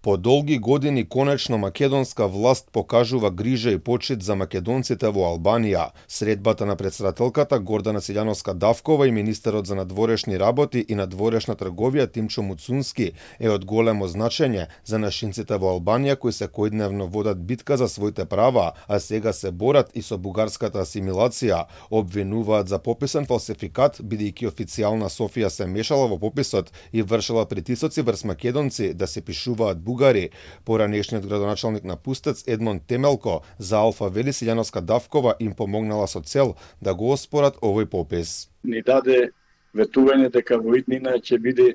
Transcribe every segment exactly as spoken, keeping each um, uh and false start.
По долги години конечно македонска власт покажува грижа и почит за македонците во Албанија. Средбата на претседателката Гордана Силјановска-Давкова и министерот за надворешни работи и надворешна трговија Тимчо Муцунски е од големо значење за нашинците во Албанија кои секојдневно водат битка за своите права, а сега се борат и со бугарската асимилација. Обвинуваат за пописен фалсификат бидејќи официјална Софија се мешала во пописот и вршила притисоци врз македонци да се пишуваат бугари. Поранешниот градоначалник на Пустец Едмон Темелко за Алфа вели Силјановска-Давкова им помогнала со цел да го оспорат овој попис. Ни даде ветување дека во иднина ќе биде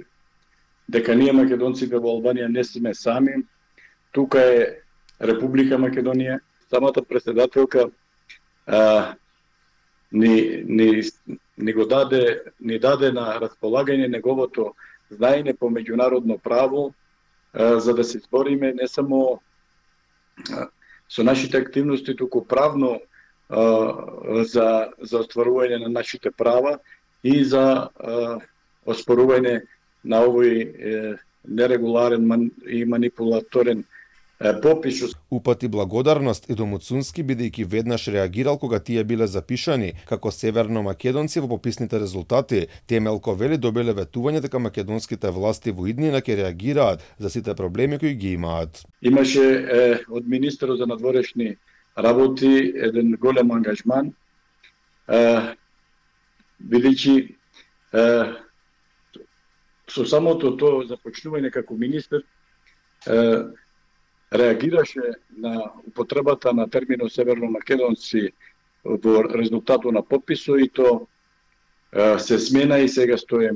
дека ние македонците во Албанија не сме сами. Тука е Република Македонија. Самата претседателка а, ни, ни, ни го даде, ни даде на располагање неговото знаење по меѓународно право, за да се избориме не само со нашите активности, туку правно за, за остварување на нашите права и за оспорување на овој нерегуларен и манипулаторен попис. Упати благодарност и до Муцунски бидејќи веднаш реагирал кога тие биле запишани како северно-македонци во пописните резултати. Темелко вели добиле ветување дека македонските власти во иднина ќе реагираат за сите проблеми кои ги имаат. Имаше е, од министерот за надворешни работи еден голем ангажман, бидејќи со самото тоа започнување како министер е, реагираше на употребата на терминот северно-македонци во резултатот на пописот и то се смена и сега стои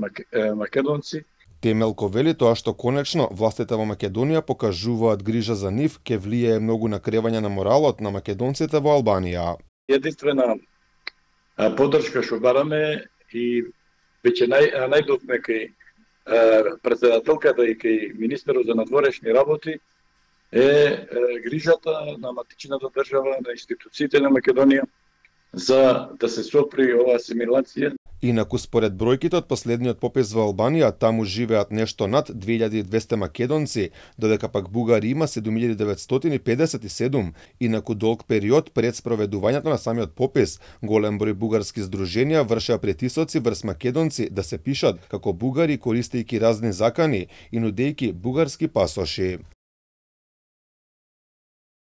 македонци. Темелко вели тоа што конечно властите во Македонија покажуваат грижа за нив ќе влијае многу на кревање на моралот на македонците во Албанија. Единствена поддршка што бараме и веќе нај, најдовме кај претседателката и кај министерот за надворешни работи е, е грижата на матичната држава, на институциите на Македонија за да се сопри оваа асимилација. Инаку според бројките од последниот попис во Албанија, таму живеат нешто над две илјади и двесте македонци, додека пак бугари има седум илјади деветстотини педесет и седум. Инаку долг период пред спроведувањето на самиот попис, голем број бугарски здруженија вршеа притисоци врз македонци да се пишат како бугари користејќи разни закани и нудејќи бугарски пасоши.